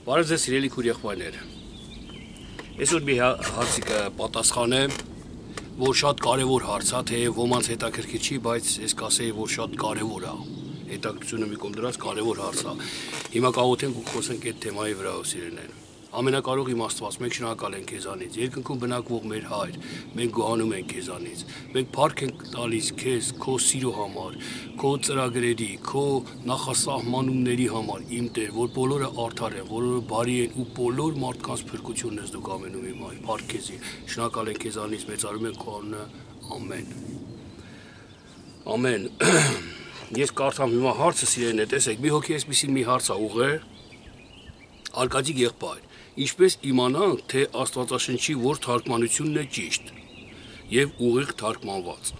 Բարև ձեզ սիրելի քուրեղբայրներ։ Այսօր մի հարցի կպատասխանեմ, որ շատ կարևոր հարց է, թեև ոմանց հետաքրքիր չի, բայց ես կասեի, որ շատ կարևոր է։ Հետաքրքրությունը մի կողմ դրած կարևոր հարց է։ Հիմա կաղոթենք ու խոսենք այդ թեմայի վրա, սիրելիներ։ Ամենակարող իմ Աստված, մենք շնորհակալ ենք քեզանից, երկնքում բնակվող մեր Հայր, մենք գոհանում ենք քեզանից, մենք փառք ենք տալիս քեզ, քո սիրո համար, քո ծրագրերի, քո նախասահմանումների համար, իմ Տեր, որ բոլորը արդար են, բոլորը բարի են ու բոլոր մարդկանց փրկությունն ես դու կամենում իմ Հայր, փառք քեզի, շնորհակալ ենք քեզանից, մեծարում ենք քո անունը, ամեն։ Ամեն։ Ես կարդամ հիմա հարցը սիրելիներ, տեսեք, մի հոգի էսպիսին մի հարց է ուղղել, Արկադի եղբայր, ինչպես իմանանք, թե Աստվածաշնչի որ թարգմանությունն է ճիշտ եւ ուղիղ թարգմանված։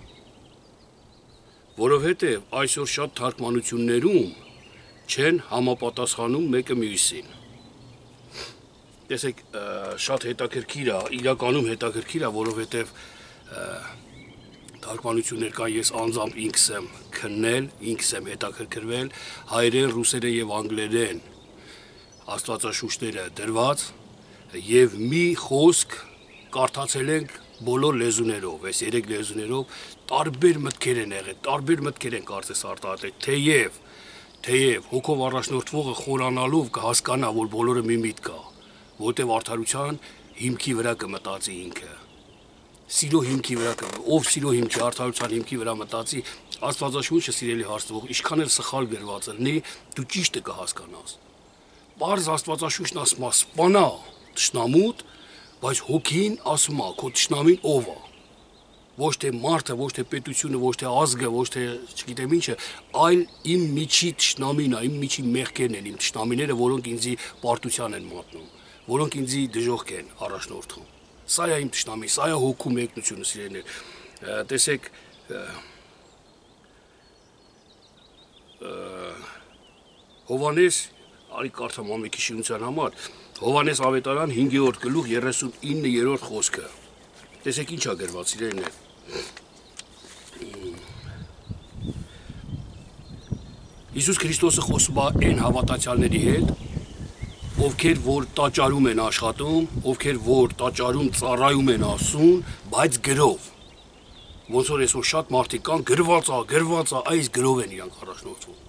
Որովհետեւ այսօր շատ թարգմանություններում չեն համապատասխանում մեկը մյուսին։ Տեսեք, շատ հետաքրքիր է, իրականում հետաքրքիր է, որովհետեւ թարգմանություններ կան, ես անձամբ ինքս եմ քննել, ինքս եմ հետաքրքրվել հայերեն, ռուսերեն եւ անգլերեն Աստվածաշունչները դրված եւ մի խոսք կարդացել ենք բոլոր լեզուներով, այս 3 լեզուներով տարբեր մտքեր են եղել, տարբեր մտքեր են կարծես արտահայտել, թեև հոգով առաջնորդվողը խորանալով կհասկանա, որ բոլորը մի միտք կա, որտեղ արդարության հիմքի վրա կմտածի ինքը։ Սիրո հիմքի վրա ով սիրո հիմքի արդարության հիմքի վրա մտածի, Աստվածաշունչը սիրելի հարցնող, ինչքան էլ սխալ գրված լինի, դու ճիշտը կհասկանաս։ Պարզ Աստվածաշունչն ասում է սպանա թշնամուդ, բայց հոգին ասում է քո թշնամին ով է։ Ոչ թե մարդը, ոչ թե պետությունը, ոչ թե ազգը, ոչ թե չգիտեմ ինչը, այլ իմ միջի թշնամին է, իմ միջի մեղքերն են, իմ թշնամիները, որոնք ինձի պարտության են մատնում, որոնք ինձի դժոխք են առաջնորդում։ Սա է իմ թշնամին, սա է հոգու մեկնությունը, սիրելիներ։ Տեսեք, Հովհաննես Արի կարդամ ամենքի շինության համար, Հովհաննես ավետարան 5-րդ գլուխ 39-րդ խոսքը։ Տեսեք ինչ է գրված, սիրելիներ։ Հիսուս Քրիստոսը խոսում է այն հավատացյալների հետ, ովքեր որ տաճարում են աշխատում, ովքեր որ տաճարում ծառայում են Աստծուն, բայց գրով։ Ոնց որ այսօր շատ մարդիկ կան գրված է, այս գրով են իրանք առաջնորդվում։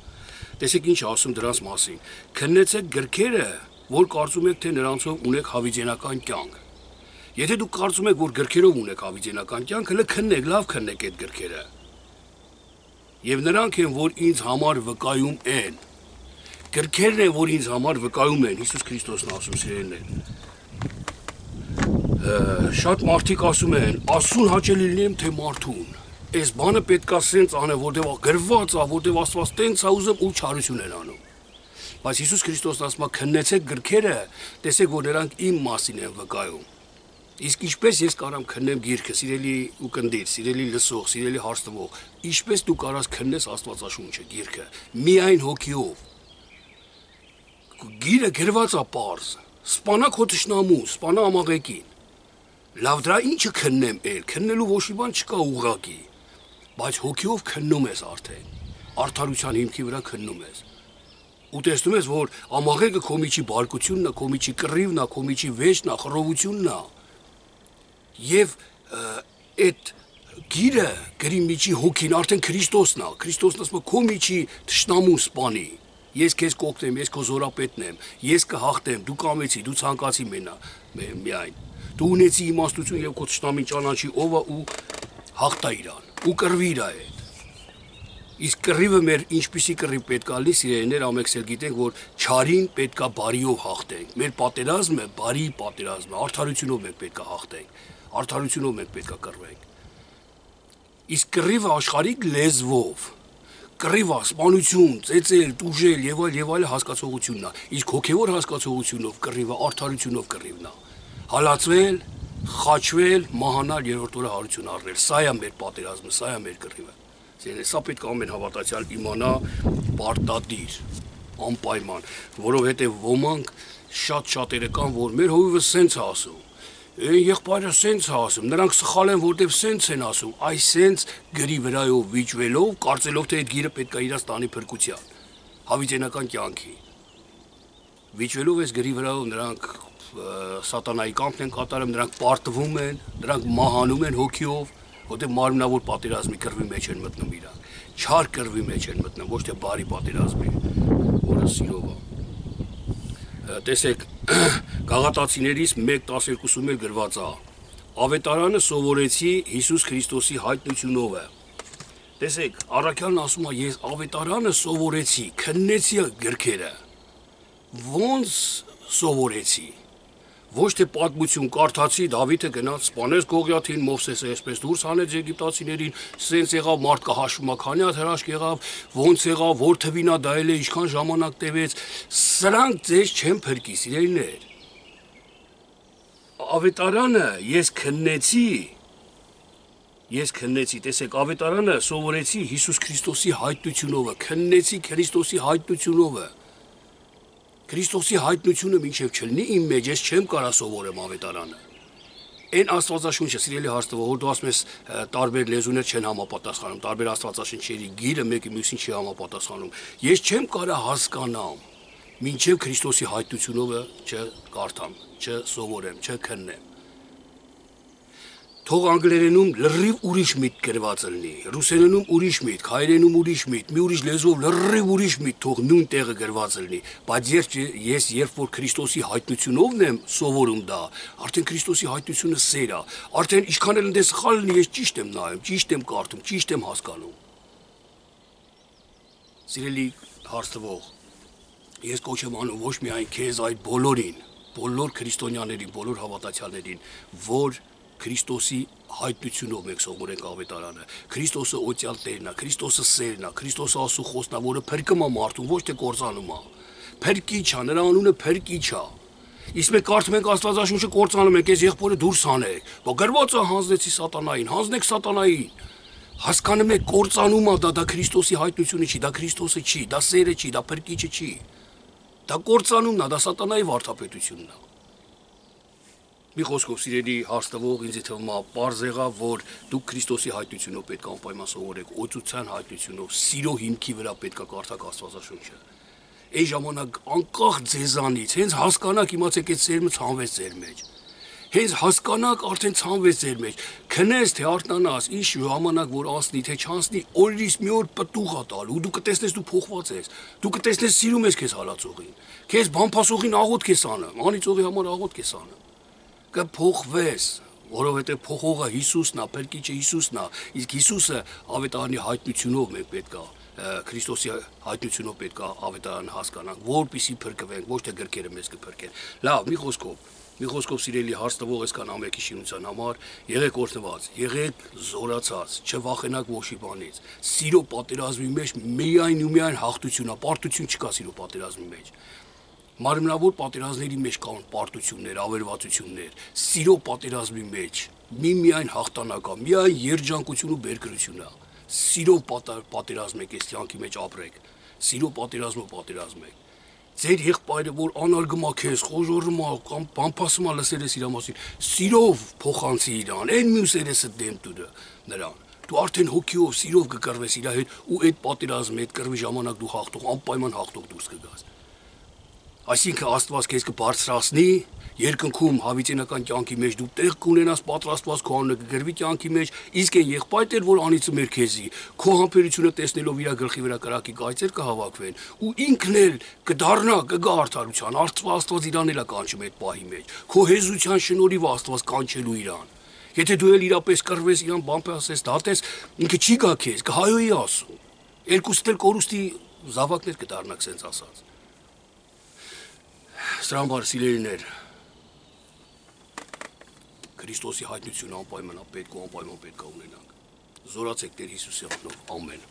Տեսեք ինչ ասում դրանց մասին։ Քննեցեք գրքերը, որ կարծում եք, թե նրանցով ունեք հավիտենական կյանք։ Եթե դուք կարծում եք, որ գրքերով ունեք հավիտենական կյանք, հələ քննեք, լավ քննեք այդ գրքերը։ Եվ նրանք են, որ ինձ համար վկայում են։ Գրքերն են, որ ինձ համար վկայում են, Հիսուս Քրիստոսն ասում սիրելիներ։ Շատ մարդիկ ասում են, Աստծուն հաճելի լինեմ, թե մարդուն։ Այս բանը պետքա սենց անե, որտեղ գրված է, որտեղ Աստված տենց է ուզում ու չարություն են անում։ Բայց Հիսուս Քրիստոսն ասում է, քննեցեք գրքերը, տեսեք, որ նրանք իմ մասին են վկայում։ Իսկ ինչպես ես կարամ քննեմ գիրքը, սիրելի ուկնդիր, սիրելի լսող, սիրելի հարցնող, ինչպես դու կարաս քննես Աստվածաշունչը, գիրքը, միայն հոգիով։ Գիրը գրված է պարզ, սպանա քո թշնամուն, սպանա ամաղեկին։ Լավ դրա ինչը քննեմ էլ, քննելու ոչ մի բան չկա ուղղակի, բայց հոգիով քննում ես արդեն, արդարության հիմքի վրա քննում ես։ Ու տեսնում ես, որ ամաղեկը քո միջի բարկությունն է, քո միջի կռիվն է, քո միջի վեճն է, խռովությունն է։ Եվ այդ գիրը գրի միջի հոգին արդեն Քրիստոսն է, Քրիստոսն ասում է քո միջի թշնամուն սպանի։ Ես քեզ կօգնեմ, ես քո զորապետն եմ, ես կհաղթեմ, դու կամեցի, դու ցանկացի միայն։ Դու ունեցի իմաստություն եւ քո թշնամին ճանաչի ով է ու հաղթա իրան, ու կռվի իր հետ։ Իսկ կռիվը մեր ինչպիսի կռիվ պետքա լինի, սիրելիներ, ամենքսել գիտենք, որ չարին պետքա բարիով հաղթենք։ Մեր պատերազմը բարի պատերազմ է, արդարությունով մենք պետքա հաղթենք, արդարությունով մենք պետքա կռվենք։ Իսկ կռիվը աշխարհիկ լեզվով, կռիվը սպանություն, ծեծել, տուժել եւ այլ հասկացողությունն է։ Իսկ հոգեվոր հասկացողությունով կռիվը արդարությունով կռիվն է։ Հալածվել, խաչվել, մահանալ, երրորդ օրը հարություն առնել։ Սա է մեր պատերազմը, սա է մեր կռիվը։ Սա պետք է ամեն հավատացյալ իմանա պարտադիր, անպայման, որովհետև ոմանք շատ-շատերը կան, որ մեր հովիվը սենց է ասում, եղբայրը սենց է ասում, նրանք սխալ են, որտև սենց են ասում, այս սենց գրի վրայով վիճվելով, կարծելով, թե այդ գիրը պետք է իրաց տանի փրկության, հավիտենական կյանքի։ Վիճվելով այս գրի վրայով նրանք սատանայի կամքն են կատարում, նրանք պարտվում են, նրանք մահանում են հոգիով, որտեղ մարմնավոր պատերազմի կռվի մեջ են մտնում իրանք, չար կռվի մեջ են մտնում, ոչ թե բարի պատերազմի, որը սիրով է։ Տեսեք, Գաղատացիներից 1:12-ում էլ գրված է. Ավետարանը սովորեցի Հիսուս Քրիստոսի հայտնությունով է։ Տեսեք, առաքյալն ասում է, ես ավետարանը սովորեցի, քննեցի գրքերը։ Ոնց սովորեցի։ Ոչ թե պատմություն կարդացի, Դավիթը գնաց սպանեց Գողիաթին, Մովսեսը այսպես դուրս հանեց եգիպտացիներին, սենց եղավ, մարդկա հաշվում է, քանի հատ հրաշք եղավ, ոնց եղավ, որ թվին է դա էլ է, ինչքան ժամանակ տևեց, սրանք ձեզ չեն փրկի, սիրելիներ։ Ավետարանը ես քննեցի, տեսեք, ավետարանը սովորեցի Հիսուս Քրիստոսի հայտնությունով, քննեցի Քրիստոսի հայտնությունով։ Քրիստոսի հայտնությունը մինչև չլինի իմ մեջ, ես չեմ կարա սովորեմ ավետարանը։ Այն Աստվածաշունչը, սիրելի հարցնող, որ դու ասում ես տարբեր լեզուներ չեն համապատասխանում, տարբեր Աստվածաշնչերի գիրը մեկը մյուսին չի համապատասխանում։ Ես չեմ կարա հասկանամ, մինչև Քրիստոսի հայտնությունով չկարդամ, չսովորեմ, չքննեմ։ Թող անգլերենում լրիվ ուրիշ միտք գրված լինի, ռուսերենում ուրիշ միտք, հայերենում ուրիշ միտք, մի ուրիշ լեզվով լրիվ ուրիշ միտք թող նույն տեղը գրված լինի, բայց ես երբ որ Քրիստոսի հայտնությունովն եմ սովորում դա, արդեն Քրիստոսի հայտնությունը սեր է, արդեն ինչքան էլ դե սխալ լինի, ես ճիշտ եմ նայում, ճիշտ եմ կարդում, ճիշտ եմ հասկանում։ Սիրելի հարցնող, ես կոչ եմ անում ոչ միայն քեզ, այլ բոլորին, բոլոր քրիստոնյաներին, բոլոր հավատացյալներին, որ Քրիստոսի հայտնությունով մենք սովորենք ավետարանը։ Քրիստոսը օծյալ Տերն է, Քրիստոսը սերն է, Քրիստոսը Աստծո խոսքն է, որը փրկում է մարդուն, ոչ թե կործանում է։ Փրկիչ է, նրա անունը փրկիչ է։ Իսկ մենք կարդում ենք Աստվածաշունչը կործանում ենք, այս եղբորը դուրս հանեք։ Բա գրված է հանձնեցի սատանային, հանձնեք սատանային։ Հասկանում եք, կործանում է դա Քրիստոսի հայտնությունը չի, դա Քրիստոսը չի, դա սերը չի, դա փրկիչը չի։ Դա կործանումն է, դա սատանայի վարդապետությունն է։ Մի խոսքով սիրելի հարցնող ինձ թվում է պարզ եղավ, որ դուք Քրիստոսի հայտնությունով պետք է անպայման սովորեք, օծության հայտնությունով, սիրո հիմքի վրա պետք է կարդաք Աստվածաշունչը։ Այն ժամանակ անկախ ձեզանից, հենց հասկանաք, իմացեք, այդ սերմը ցանվեց ձեր մեջ։ Հենց հասկանաք, արդեն ցանվեց ձեր մեջ։ Քնես թե արթնանաս, ինչ ժամանակ որ անցնի, թե չանցնի, օրից մի օր պտուղ է տալու, դու կտեսնես դու փոխված ես։ Դու կտեսնես սիրում ես քեզ հալածողին։ Քեզ բամփասողին աղոթք ես անում, անիծողի համար աղոթք ես անում։ Կփոխվես, որովհետև փոխողը Հիսուսն է, փրկիչը Հիսուսն է, իսկ Հիսուսը ավետարանի հայտնությունով մենք պետք է Քրիստոսի հայտնությունով պետք է ավետարանը հասկանանք, որպեսզի փրկվենք, ոչ թե գրքերը մեզ կփրկեն։ Լավ, մի խոսքով սիրելի հարցնող այսքան ամենքի շինության համար, եղեք օրհնված, եղեք զորացած, չվախենաք ոչի բանից։ Սիրո պատերազմի մեջ միայն ու միայն հաղթություն է, պարտություն չկա սիրո պատերազմի մեջ։ Մարմնավոր պատերազմների մեջ կան պարտություններ, ավերվածություններ, սիրո պատերազմի մեջ միայն հաղթանակ է, միայն երջանկություն ու բերկրություն է։ Սիրով պատերազմեք, այս կյանքի մեջ ապրեք, սիրո պատերազմեք։ Ձեր եղբայրը, որ անարգում է քեզ, խոժոռում է կամ բամփասում է լսել ես իր մասին, սիրով փոխանցի իրան, այն մյուսերեսը դեմ տուր նրան։ Դու արդեն հոգիով, սիրով կկռվես իր հետ ու այդ պատերազմի, այդ կռվի ժամանակ դու հաղթող, անպայման հաղթող դուրս կգաս։ Այսինքն Աստված քեզ կբարձրացնի, երկնքում հավիտենական կյանքի մեջ դու տեղ կունենաս պատրաստված քո անունը կգրվի կյանքի մեջ, իսկ այն եղբայրը, որ անիծում էր քեզի, քո համբերությունը տեսնելով իր գլխի վրա կրակի կայծեր կհավաքվեն, ու ինքն էլ կդառնա, կգա արդարության, Աստված իրան էլ է կանչում այդ պահի մեջ, քո հեզության շնորհիվ Աստված կանչելու իրան։ Եթե դու էլ իրապես կռվես, իրան բամփասես, դատես, ինքը չի գա քեզ, կհայոյի ասում։ Երկուսդ էլ կորուստի զավակներ կդառնաք, սենց ասած։ Սրամբար սիրելիներ, Քրիստոսի հայտնությունը անպայման պետք է ունենանք։ Զորացեք Տեր Հիսուսի անունով, ամեն։